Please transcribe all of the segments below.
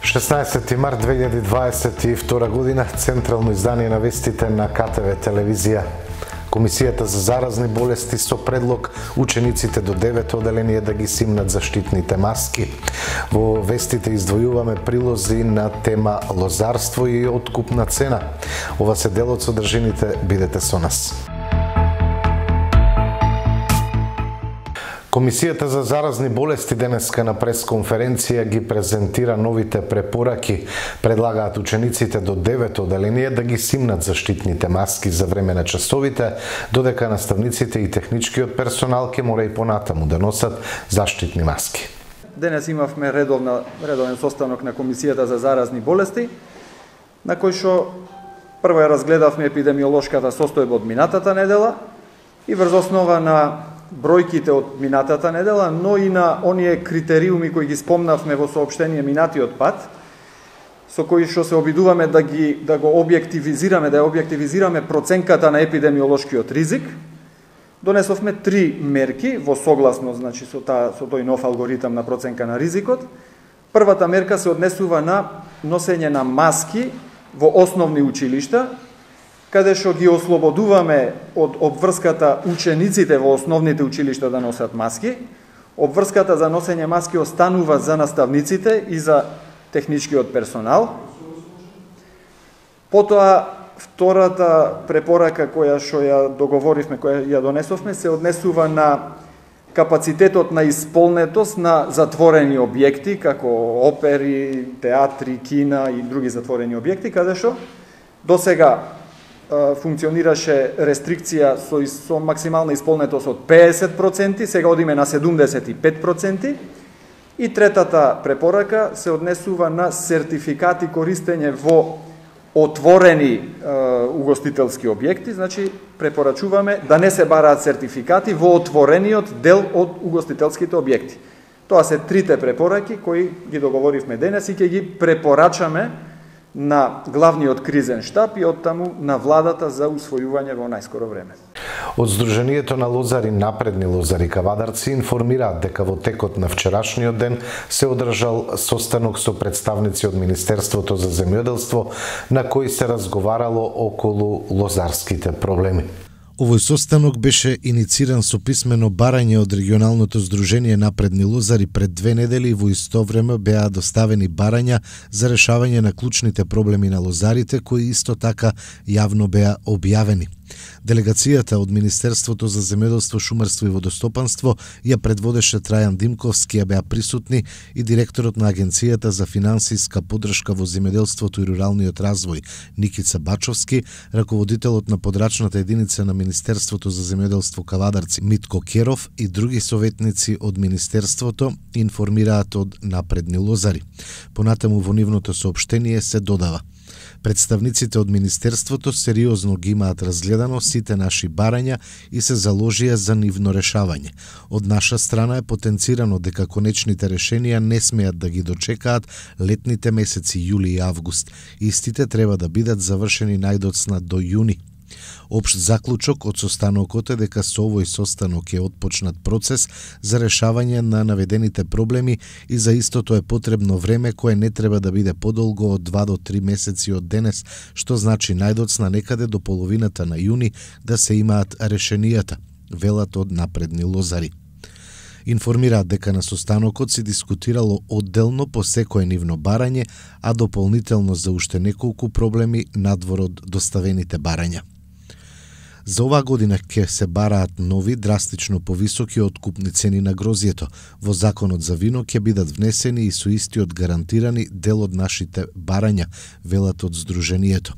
16 март 2022 година, централно издание на вестите на КТВ телевизија. Комисијата за заразни болести со предлог учениците до 9 оделение да ги симнат заштитните маски. Во вестите издвојуваме прилози на тема лозарство и откупна цена. Ова се дел од содржините, бидете со нас. Комисијата за заразни болести денеска на пресконференција ги презентира новите препораки. Предлагаат учениците до 9 оделение да ги симнат заштитните маски за време на часовите, додека наставниците и техничкиот персонал ќе мора и понатаму да носат заштитни маски. Денес имавме редовен состанок на Комисијата за заразни болести, на кој што прво ја разгледавме епидемиолошката состојба од минатата недела и врз основа на бројките од минатата недела, но и на оние критериуми кои ги спомнавме во соопштение минатиот пат, со кои што се обидуваме да го објективизираме проценката на епидемиолошкиот ризик. Донесовме 3 мерки во согласност, значи со тој нов алгоритам на проценка на ризикот. Првата мерка се однесува на носење на маски во основни училишта, каде што ги ослободуваме од обврската учениците во основните училишта да носат маски. Обврската за носење маски останува за наставниците и за техничкиот персонал. Потоа, втората препорака која што ја договоривме, која ја донесовме, се однесува на капацитетот на исполнетост на затворени објекти, како опери, театри, кина и други затворени објекти, каде што досега функционираше рестрикција со максимална исполнетост од 50%, сега одиме на 75%. И третата препорака се однесува на сертификати користење во отворени угостителски објекти, значи препорачуваме да не се бараат сертификати во отворениот дел од угостителските објекти. Тоа се трите препораки кои ги договоривме денес и ќе ги препорачаме на главниот кризен штаб и оттаму на владата за усвојување во најскоро време. Од Сдруженијето на лозари Напредни лозари Кавадарци информираат дека во текот на вчерашниот ден се одржал состанок со представници од Министерството за земјоделство на кој се разговарало околу лозарските проблеми. Овој состанок беше инициран со писмено барање од регионалното Сдружение Напредни лозари пред 2 недели и во исто време беа доставени барања за решавање на клучните проблеми на лозарите, кои исто така јавно беа објавени. Делегацијата од Министерството за земјоделство, шумарство и водостопанство ја предводеше Трајан Димковски, ја беа присутни и директорот на Агенцијата за финансиска поддршка во земјоделството и руралниот развој Никица Бачовски, раководителот на подрачната единица на Министерството за земјоделство Кавадарци Митко Керов и други советници од Министерството, информираат од Напредни лозари. Понатаму во нивното соопштение се додава: представниците од Министерството сериозно ги имаат разгледано сите наши барања и се заложија за нивно решавање. Од наша страна е потенцирано дека конечните решенија не смеат да ги дочекаат летните месеци јули и август. Истите треба да бидат завршени најдоцна до јуни. Општ заклучок од состанокот е дека со овој состанок е отпочнат процес за решавање на наведените проблеми и за истото е потребно време кое не треба да биде подолго од 2 до 3 месеци од денес, што значи најдоцна некаде до половината на јуни да се имаат решенијата, велат од Напредни лозари. Информираат дека на состанокот се дискутирало одделно по секое нивно барање, а дополнително за уште неколку проблеми надвор од доставените барања. За оваа година ќе се бараат нови, драстично повисоки откупни цени на грозјето. Во законот за вино ќе бидат внесени и со истиот гарантирани дел од нашите барања, велат од Сдруженијето.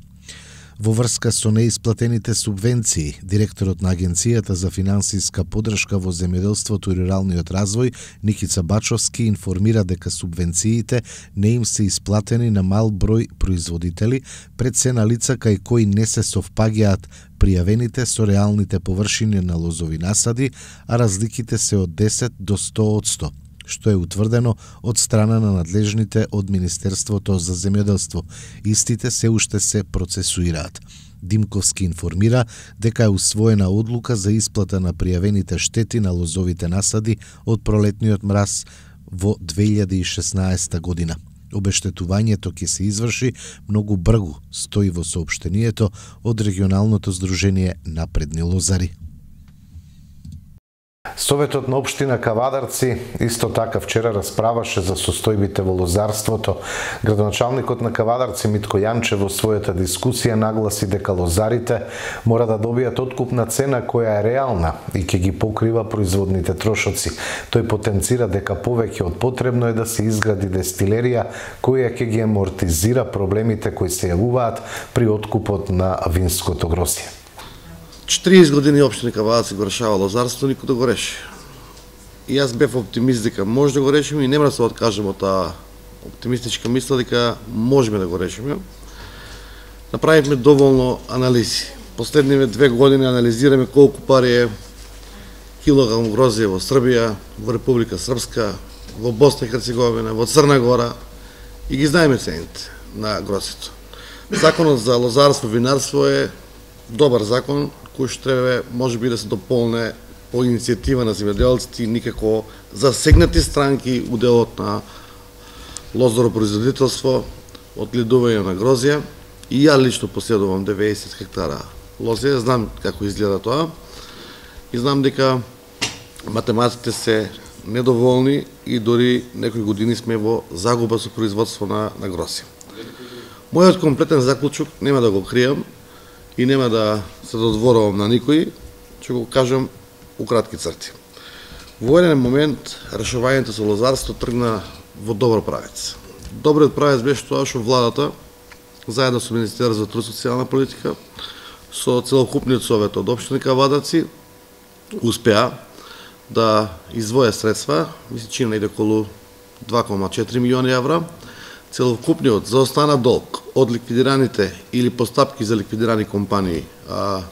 Во врска со неисплатените субвенции, директорот на Агенцијата за финансиска поддршка во земјоделството и руралниот развој Никица Бачовски информира дека субвенциите не им се исплатени на мал број производители, пред се на лица кај кои не се совпаѓаат пријавените со реалните површини на лозови насади, а разликите се од 10 до 100%. Што е утврдено од страна на надлежните од Министерството за земјоделство. Истите се уште се процесуираат. Димковски информира дека е усвоена одлука за исплата на пријавените штети на лозовите насади од пролетниот мраз во 2016 година. Обештетувањето ќе се изврши многу брзо, стои во соопштението од регионалното здружение Напредни лозари. Советот на општина Кавадарци исто така вчера расправаше за состојбите во лозарството. Градоначалникот на Кавадарци Митко Јанчев во својата дискусија нагласи дека лозарите мора да добијат откупна цена која е реална и ќе ги покрива производните трошоци. Тој потенцира дека повеќе од потребно е да се изгради дестилерија која ќе ги амортизира проблемите кои се јавуваат при откупот на винското грозје. 40 години општина Кавадарци го решава лозарство, никој да го реши. И јас бев оптимист дека може да го решиме и нема да се откажем од таа оптимистичка мисла дека можеме да го решиме. Направивме доволно анализи. Последниве 2 години анализираме колку пари е килограм грозје во Србија, во Република Српска, во Босна и Херцеговина, во Црна Гора и ги знаеме цените на грозјето. Законот за лозарство и винарство е добар закон кој што треба можеби да се дополне по иницијатива на земјоделците и никако засегнати странки у делот на лозаропроизводителство, одледување на грозје. И ја лично поседувам 90 хектара лозје, знам како изгледа тоа и знам дека математите се недоволни и дори некои години сме во загуба со производство на грозје. Мојот комплетен заклучок нема да го кријам и нема да се додворувам на никој, ќе го кажам у кратки црти. Во еден момент решавањето со лозарство тргна во добар правец. Добриот правец беше тоа што владата, заедно со Министерството за труд и социјална политика, со целокупниот совет од општина Кавадарци, успеа да издвоја средства, мисли че најде околу 2,4 милиони евра. Целокупниот заостана долг од ликвидираните или постапки за ликвидирани компании,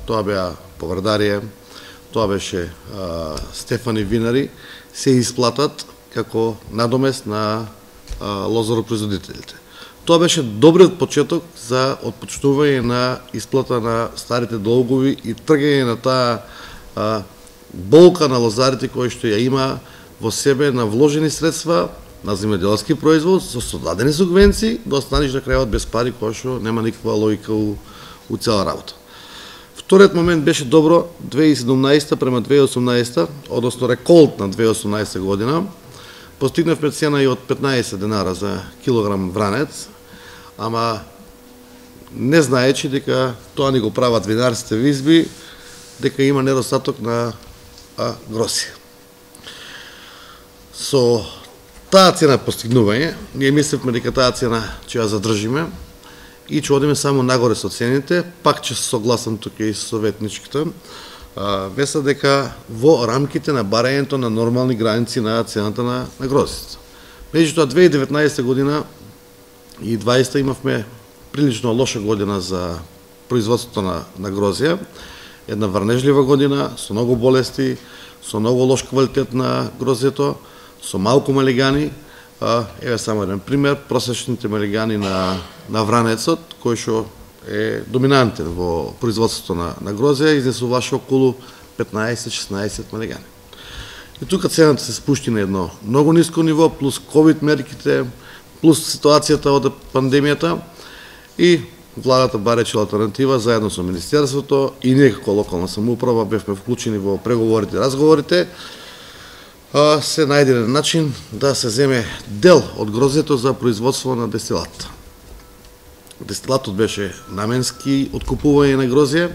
тоа беа Поврдарија, тоа беше Стефани Винари, се исплатат како надомест на лозаропроизводителите. Тоа беше добриот почеток за отпочнување на исплата на старите долгови и тргање на таа болка на лозарите кој што ја има во себе на вложени средства на земјоделски производ со содадени субвенции, да останеш на крајот без пари, која што нема никаква логика у цела работа. Вториот момент беше добро 2017 према 2018, односно реколт на 2018 година. Постигнавме цена и од 15 денара за килограм вранец, ама не знаечи дека тоа ни го прават винарските визби, дека има недостаток на грозје. Со таа цена постигнување, ние мислевме дека таа цена ќе ја задржиме и ќе одиме само нагоре со цените, пак ќе се согласам тука и со советничката, веса дека во рамките на барањето на нормални граници на цената на грозјето. Меѓутоа 2019 година и 2020 имавме прилично лоша година за производството на грозје, една врнежлива година со многу болести, со многу лош квалитет на грозјето, со малку малигани. Еве само еден пример, просечните малигани на вранецот, кој што е доминантен во производството на грозје, изнесуваше околу 15-16 малигани. И тука цената се спушти на едно многу ниско ниво, плюс ковид мерките, плюс ситуацијата од пандемијата и владата барече алтернатива заедно со Министерството и ние како локална самоуправа бевме вклучени во преговорите и разговорите, се најде начин да се земе дел од грозјето за производство на дестилат. Дестилатот беше наменски откупување на грозје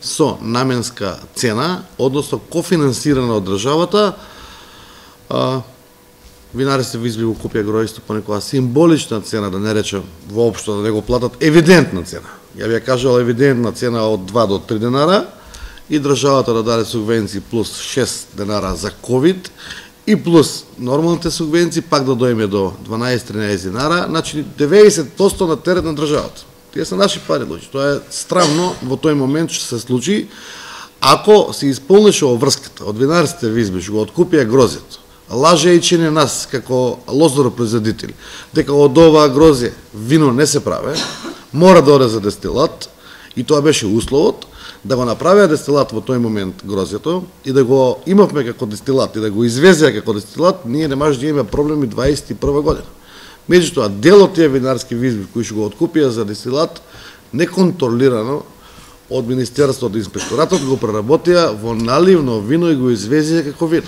со наменска цена, односно кофинансирана од државата. Винарите во изби го купија гројство по некоја символична цена, да не речем воопшто да не го платат, евидентна цена. Ја би ја кажал евидентна цена од 2 до 3 денара и државата да даде субвенции плюс 6 денара за ковид и плюс нормалните субвенции пак да дојме до 12-13 денара, значи 90% на терет на државата. Тие се наши пари, луѓе. Тоа е странно во тој момент што се случи. Ако се исполнеше врската од винарските визби што го откупија грозјето, лажејќи не нас како лозаропроизводители, дека од оваа грозје вино не се праве, мора да оде за дестилат и тоа беше условот, да го направија дестилат во тој момент грозјето и да го имавме како дестилат и да го извезеа како дестилат, ние не може да имаме проблеми 21 година. Меѓутоа, дел од тие винарски визби кои што го откупија за дестилат, неконтролирано од Министерството, од Инспекторатот го преработија во наливно вино и го извезија како вино.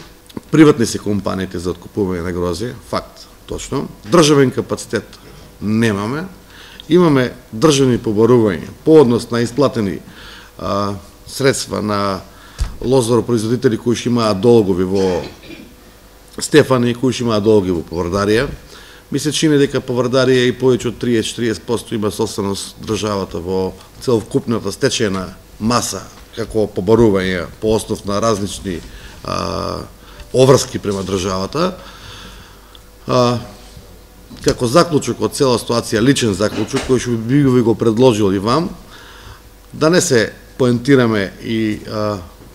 Приватни се компаниите за откупување на грозје, факт, точно. Државен капацитет немаме. Имаме државни побарувања по однос на исплатени средства на лозаропроизводители кои што имаат долгови во Стефани, кои што имаат долгови во Поврдарија. Ми се чини дека Поврдарија и повеќе од 30-40% има собственост државата во целокупната стечена маса како побарување по основ на различни оврски према државата. Како заклучок од цела ситуација, личен заклучок, кој што би ви го предложил и вам, да не се поентираме и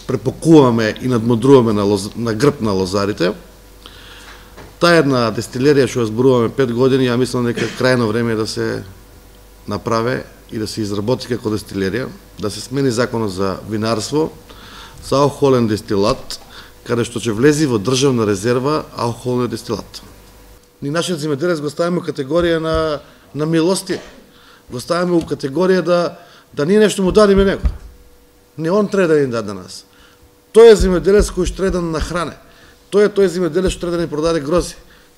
препокуваме и надмудруваме на грб на лозарите. Таа една дестилерија што ја зборуваме 5 години, ја мислам дека крајно време е да се направи и да се изработи како дестилерија, да се смени законот за винарство, за алкохолен дестилат, каде што ќе влези во државна резерва алкохолен дестилат. Ни нашиот земјоделец го ставиме во категорија на милости, го ставиме во категорија да ние нешто му дадиме него. Не он треба да ни даде нас. Тој е земјоделец кој што треба да нахране. Тој е тој земјоделец што треба да ни продаде грози.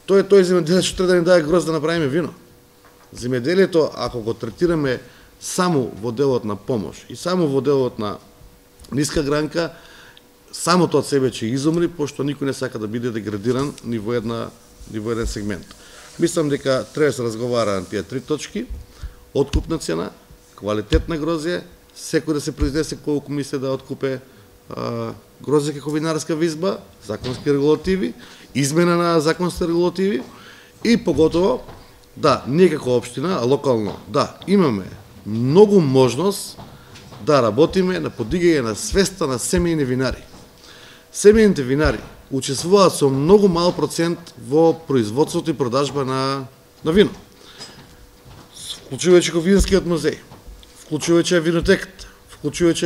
Тој е тој земјоделец што треба да ни даде гроз да направиме вино. Земјоделието, ако го третираме само во делот на помош и само во делот на ниска гранка, самото од себе ќе изумри, пошто никој не сака да биде деградиран ни во еден сегмент. Мислам дека треба да се разговара на тие три точки: откупна цена, квалитет на грозје, секој да се произнесе колку мисли да откупе грозје како винарска визба, законски регулативи, измена на законски регулативи и поготово да, ние како општина, локално, да, имаме многу можност да работиме на подигање на свеста на семејни винари. Семејните винари учествуваат со многу мал процент во производството и продажба на вино. Вклучувајќи го винскиот музеј, вклучувајќи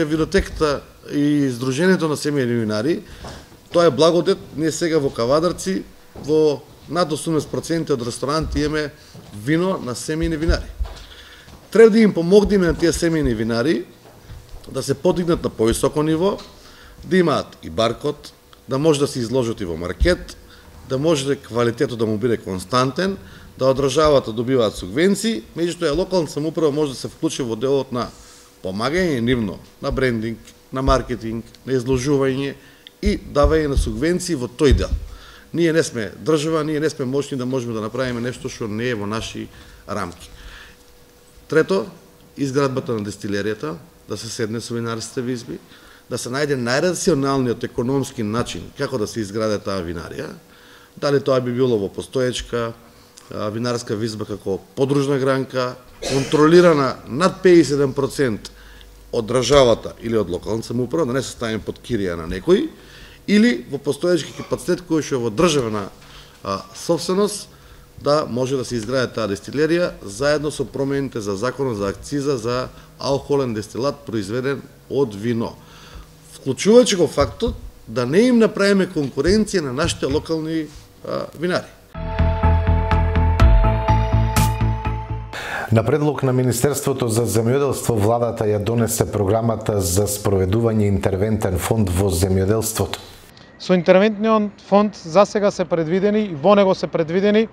винотеката и Сдруженијето на семејни винари, тоа е благодет. Ние сега во Кавадарци во над 80% од ресторанти имаме вино на семејни винари. Треба да им помогнеме на тие семејни винари да се подигнат на повисоко ниво, да имаат и баркод, да може да се изложат и во маркет, да може квалитетот да му биде константен, да од државата добиваат субвенции, меѓутоа локалната самоуправа може да се вклучи во делот на помагање нивно на брендинг, на маркетинг, на изложување и давање на субвенции во тој дел. Ние не сме држава, ние не сме мощни да можеме да направиме нешто што не е во наши рамки. Трето, изградбата на дестилеријата, да се седне со винарските визби, да се најде најрационалниот економски начин како да се изграде таа винарија, дали тоа би било во постоечка винарска визба како подружна гранка, контролирана над 51% од државата или од локална самоуправа, да не се ставиме под кирија на некој, или во постоечки капацитет кој што е во државна собственост, да може да се изграде таа дестилерија заедно со промените за законот за акциза за алкохолен дестилат произведен од вино. Вклучувајќи го фактот да не им направиме конкуренција на нашите локални винари. На предлог на Министерството за земјоделство, владата ја донесе програмата за спроведување интервентен фонд во земјоделството. Со интервентниот фонд засега се предвидени и во него се предвидени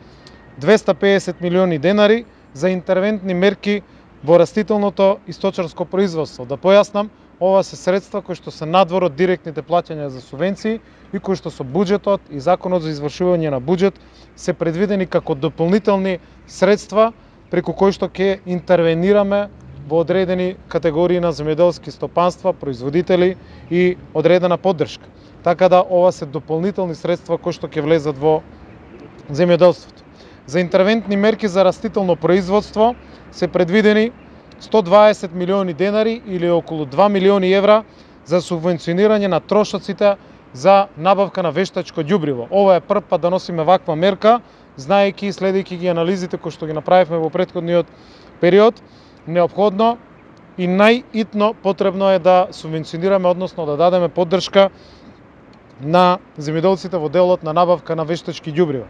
250 милиони денари за интервентни мерки во растителното и сточарско производство. Да појаснам, ова се средства кои што се надвор од директните плаќања за субвенции и кои што со буџетот и законот за извршување на буџет се предвидени како дополнителни средства преку кои што ќе интервенираме во одредени категории на земјоделски стопанства, производители и одредена поддршка. Така да ова се дополнителни средства кои што ќе влезат во земјоделството. За интервентни мерки за растително производство се предвидени 120 милиони денари или околу 2 милиони евра за субвенционирање на трошоците за набавка на вештачко ѓубриво. Ова е прв пат да носиме ваква мерка, знаејќи и следејќи ги анализите кои што ги направивме во претходниот период. Неопходно и најитно потребно е да субвенционираме, односно да дадеме поддршка на земјоделците во делот на набавка на вештачки ѓубрива.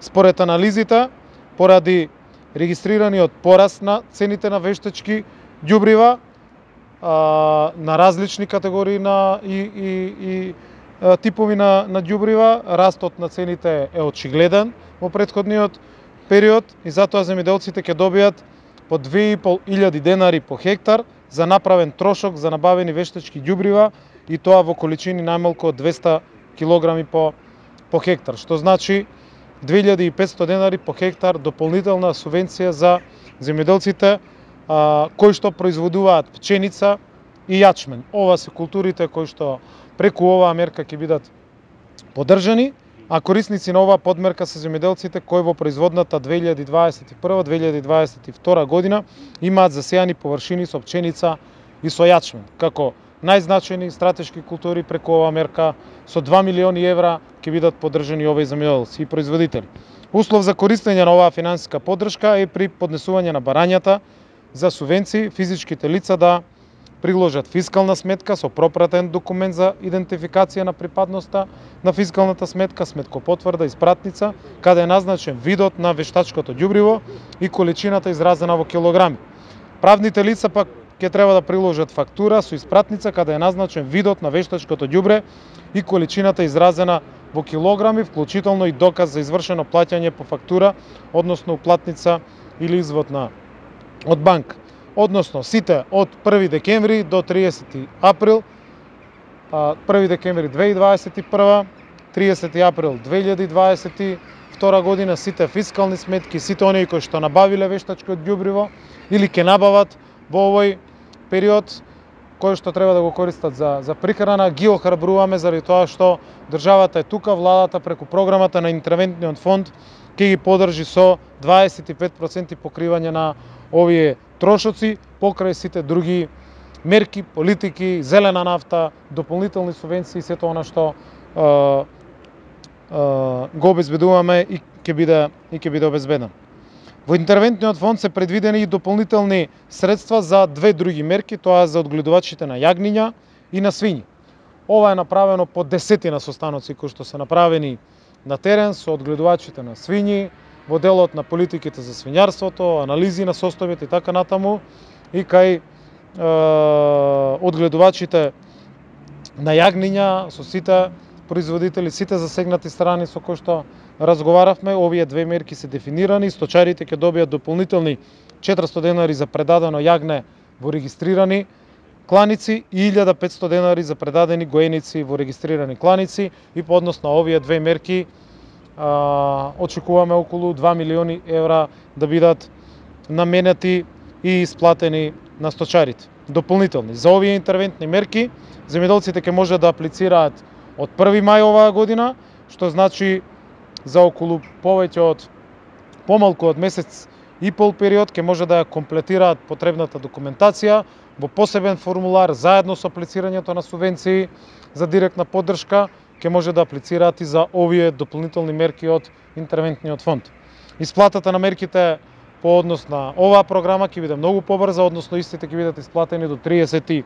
Според анализите, поради регистрираниот пораст на цените на вештачки ѓубрива на различни категории и типови на ѓубрива. Растот на цените е очигледен во претходниот период и затоа земјоделците ќе добијат по 2.500 денари по хектар за направен трошок за набавени вештачки ѓубрива и тоа во количини најмалку од 200 килограми по хектар, што значи 2500 денари по хектар дополнителна субвенција за земјоделците кои што производуваат пченица и јачмен. Ова се културите кои што преку оваа мерка ќе бидат поддржани, а корисници на оваа подмерка се земјоделците кои во производната 2021-2022 година имаат засејани површини со пченица и со јачмен. Како најзначајни стратешки култури преку оваа мерка со 2 милиони евра ќе бидат поддржани овие земјоделци и производители. Услов за користење на оваа финансиска поддршка е при поднесување на барањата за субвенции физичките лица да приложат фискална сметка со пропратен документ за идентификација на припадноста на фискалната сметка, сметкопотврда и спратница, каде е назначен видот на вештачкото ѓубриво и количината изразена во килограми. Правните лица пак ќе треба да приложат фактура со испратница каде е назначен видот на вештачкото ѓубре и количината изразена во килограми, вклучително и доказ за извршено плаќање по фактура, односно уплатница или извод од банка. Односно сите од 1 декември до 30 април, 1 декември 2021, 30 април 2022 година, сите фискални сметки, сите оние кои што набавиле вештачко ѓубриво или ќе набават во овој период, кои што треба да го користат за прихрана, ги охрабруваме заради тоа што државата е тука, владата преку програмата на интервентниот фонд ќе ги поддржи со 25% покривање на овие трошоци покрај сите други мерки, политики, зелена нафта, дополнителни субвенции, сето она што го обезбедуваме и ќе биде обезбедено. Во интервентниот фонд се предвидени и дополнителни средства за две други мерки, тоа е за одгледувачите на јагниња и на свињи. Ова е направено по десетина состаноци кои што се направени на терен со одгледувачите на свињи, во делот на политиките за свињарството, анализи на составите и така натаму, и кај одгледувачите на јагниња со сите производители, сите засегнати страни со кои што разговаравме. Овие две мерки се дефинирани, сточарите ќе добијат дополнителни 400 денари за предадено јагне во регистрирани кланици и 1500 денари за предадени гоеници во регистрирани кланици, и по однос на овие две мерки очекуваме околу 2 милиони евра да бидат наменети и исплатени на сточарите. Дополнителни за овие интервентни мерки земјоделците ќе може да аплицираат од 1 мај оваа година, што значи за околу повеќе од помалку од месец и пол период ќе може да ја комплетираат потребната документација во посебен формулар заедно со аплицирањето на субвенции за директна поддршка, ќе може да аплицираат и за овие дополнителни мерки од интервентниот фонд. Исплатата на мерките по однос на оваа програма ќе биде многу побрза, односно истите ќе бидат исплатени до 30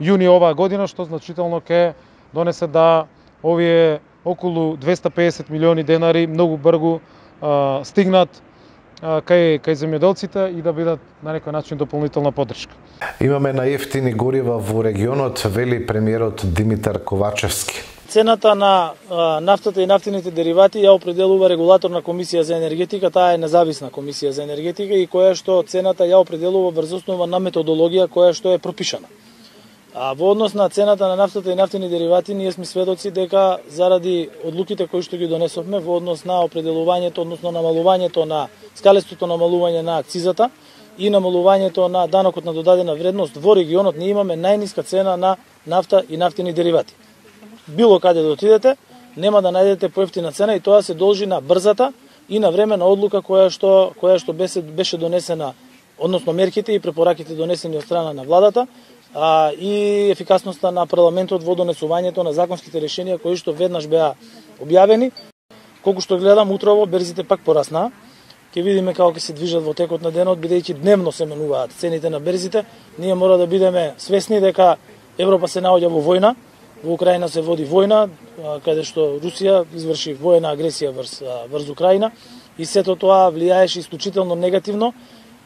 јуни оваа година, што значително ќе донесе да овие околу 250 милиони денари многу брзо стигнат кај земјоделците и да бидат на некој начин дополнителна поддршка. Имаме најефтини горива во регионот, вели премиерот Димитар Ковачевски. Цената на нафтата и нафтините деривати ја определува регулаторна комисија за енергетика, таа е независна комисија за енергетика и која што цената ја определува врз основа на методологија која што е пропишана. Во однос на цената на нафтата и нафтини деривати, ние сме сведоци дека заради одлуките кои што ги донесовме во однос на определувањето, односно намалувањето на скалестото намалување на акцизата и намалувањето на данокот на додадена вредност во регионот, ние имаме најниска цена на нафта и нафтини деривати. Било каде да отидете, нема да најдете поевтина цена и тоа се должи на брзата и на времена одлука која што беше донесена, односно мерките и препораките донесени од страна на владата, и ефикасноста на парламентот во донесувањето на законските решенија кои што веднаш беа објавени. Колку што гледам, утрово берзите пак пораснаа. Ќе видиме како ќе се движат во текот на денот, бидејќи дневно се менуваат цените на берзите. Ние мора да бидеме свесни дека Европа се наоѓа во војна, во Украина се води војна, каде што Русија изврши воена агресија врз Украина и сето тоа влијаеше исклучително негативно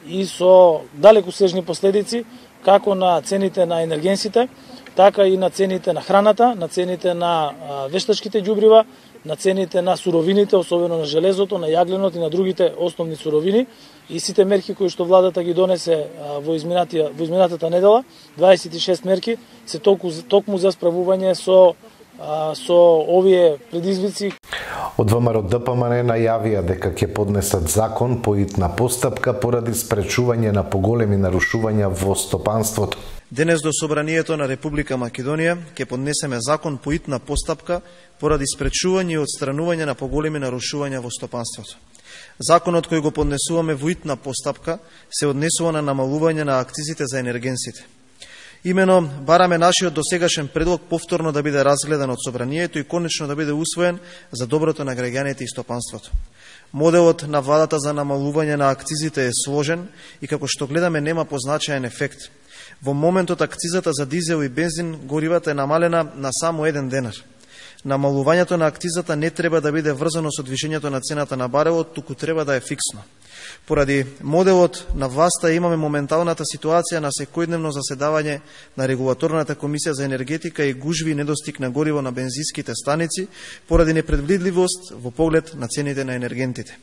и со далекосежни последици како на цените на енергенсите, така и на цените на храната, на цените на вештачките ѓубрива, на цените на суровините, особено на железото, на јагленот и на другите основни суровини. И сите мерки кои што владата ги донесе во изминатата недела, 26 мерки, се токму за справување со овие предизвици. Од ВМРО ДПМН најавија дека ќе поднесат закон по итна постапка поради спречување на поголеми нарушувања во стопанството. Денес до Собранието на Република Македонија ќе поднесеме закон по итна постапка поради спречување и отстранување на поголеми нарушувања во стопанството. Законот кој го поднесуваме во итна постапка се однесува на намалување на акцизите за енергенсите. Имено, бараме нашиот досегашен предлог повторно да биде разгледан од Собранието и конечно да биде усвоен за доброто на граѓаните и стопанството. Моделот на владата за намалување на акцизите е сложен и како што гледаме нема позначаен ефект. Во моментот акцизата за дизел и бензин горивата е намалена на само 1 денар. Намалувањето на акцизата не треба да биде врзано со движењето на цената на барелот, туку треба да е фиксно. Поради моделот на власта имаме моменталната ситуација на секојдневно заседавање на Регулаторната комисија за енергетика и гужви и недостиг на гориво на бензинските станици поради непредвидливост во поглед на цените на енергентите.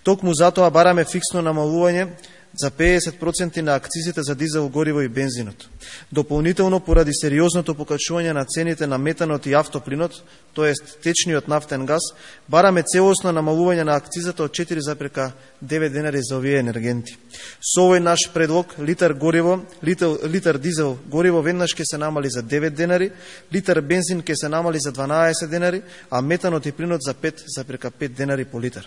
Токму затоа бараме фиксно намалување за 50% на акцизите за дизел гориво и бензинот. Дополнително, поради сериозното покачување на цените на метанот и автоплинот, тоест течниот нафтен газ, бараме целосно намалување на акцизата од 4,9 денари за овие енергенти. Со овој наш предлог, литар дизел гориво веднаш ќе се намали за 9 денари, литар бензин ќе се намали за 12 денари, а метанот и плинот за 5,5 денари по литар.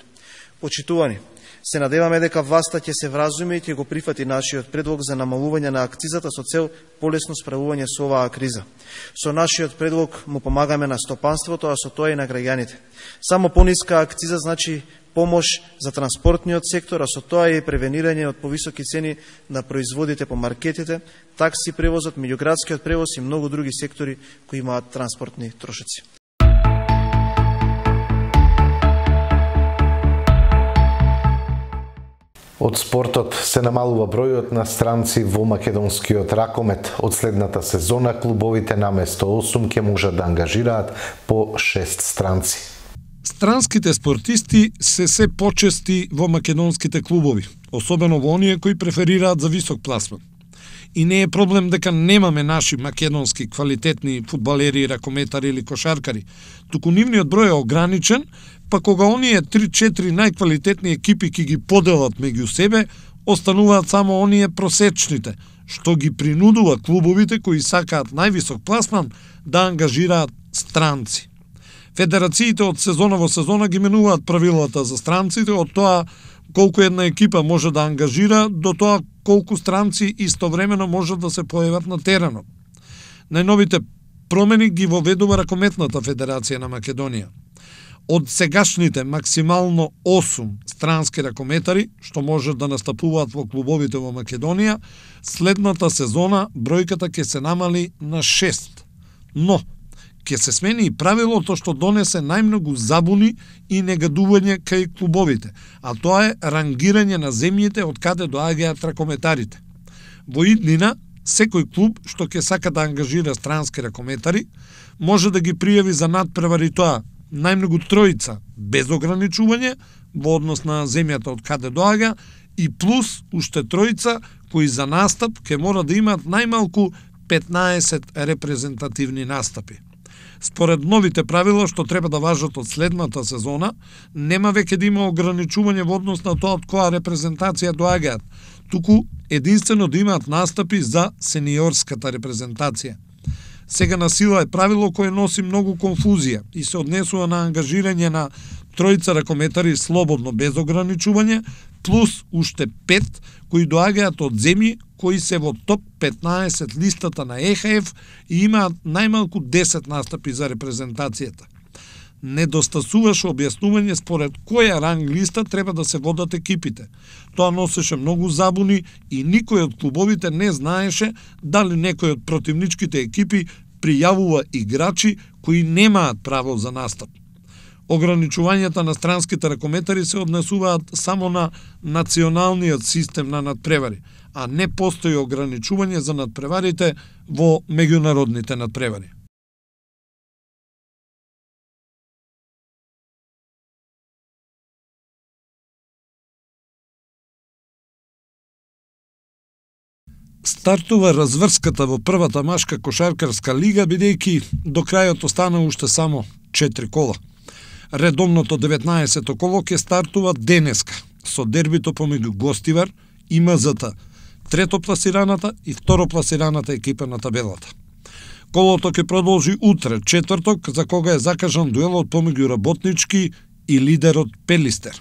Почитувани, се надеваме дека власта ќе се вразуми и ќе го прифати нашиот предлог за намалување на акцизата со цел полесно справување со оваа криза. Со нашиот предлог му помагаме на стопанството, а со тоа и на граѓаните. Само пониска акциза значи помош за транспортниот сектор, а со тоа и превенирање од повисоки цени на производите по маркетите, такси превозот, меѓуградскиот превоз и многу други сектори кои имаат транспортни трошоци. Од спортот се намалува бројот на странци во македонскиот ракомет. Од следната сезона клубовите наместо 8 ќе можат да ангажираат по 6 странци. Странските спортисти се почести во македонските клубови, особено во оние кои преферираат за висок пласман. И не е проблем дека немаме наши македонски квалитетни фудбалери, ракометари или кошаркари, туку нивниот број е ограничен, па кога оние 3-4 најквалитетни екипи ќе ги поделат меѓу себе, остануваат само оние просечните, што ги принудува клубовите кои сакаат највисок пласман да ангажираат странци. Федерациите од сезона во сезона ги менуваат правилата за странците, од тоа колку една екипа може да ангажира, до тоа колку странци истовремено можат да се појават на теренот. Најновите промени ги воведува Ракометната федерација на Македонија. Од сегашните максимално 8 странски ракометари, што можат да настапуваат во клубовите во Македонија, следната сезона бројката ќе се намали на 6. Но, ќе се смени и правилото што донесе најмногу забуни и негадување кај клубовите, а тоа е рангирање на земјите од каде доаѓаат ракометарите. Во иднина, секој клуб што ќе сака да ангажира странски ракометари, може да ги пријави за надпревари тоа најмногу 3 без ограничување во однос на земјата од каде доаѓа и плюс уште 3 кои за настап ќе мора да имаат најмалку 15 репрезентативни настапи. Според новите правила што треба да важат од следната сезона, нема веќе да има ограничување во однос на тоа од која репрезентација доаѓаат, туку единствено да имаат настапи за сениорската репрезентација. Сега на сила е правило кое носи многу конфузија и се однесува на ангажирање на 3 ракометари слободно без ограничување, плюс уште 5 кои доаѓаат од земји кои се во топ 15 листата на ЕХФ и имаат најмалку 10 настапи за репрезентацијата. Недостасуваше објаснување според која ранг листа треба да се водат екипите. Тоа носеше многу забуни и никој од клубовите не знаеше дали некој од противничките екипи пријавува играчи кои немаат право за настап. Ограничувањата на странските ракометари се однесуваат само на националниот систем на надпревари, а не постои ограничување за надпреварите во меѓународните надпревари. Стартува разврската во првата машка кошаркарска лига, бидејќи до крајот остана уште само 4 кола. Редовното 19-то коло ќе стартува денеска со дербито помеѓу Гостивар и МЗТ, третопласираната и второпласираната екипа на табелата. Колото ќе продолжи утре, четврток, за кога е закажан дуелот помеѓу Работнички и лидерот Пелистер.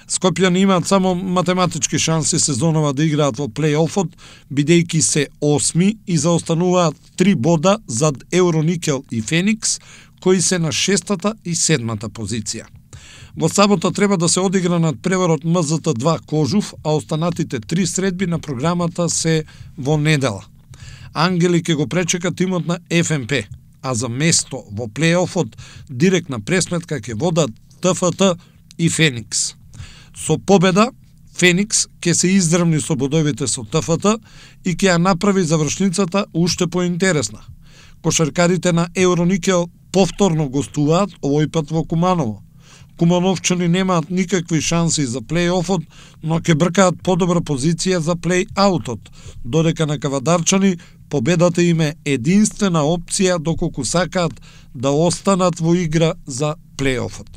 Скопјани имаат само математички шанси сезонова да играат во плей-офот, бидејќи се 8 и заостануваат 3 бода зад Евроникел и Феникс, кои се на 6-та и 7-та позиција. Во сабота треба да се одигра надпреварот МЗТ-2 Кожув, а останатите 3 средби на програмата се во недела. Ангели ќе го пречека тимот на ФМП, а за место во плей-офот директна пресметка ќе водат ТФТ и Феникс. Со победа, Феникс ќе се издрвни со бодовите со ТФТ и ќе ја направи завршницата уште поинтересна. Кошаркарите на Евроникел повторно гостуваат, овој пат во Куманово. Кумановчани немаат никакви шанси за плей-офот, но ќе бркаат подобра позиција за плей-аутот, додека на кавадарчани победата им е единствена опција доколку сакаат да останат во игра за плей-офот.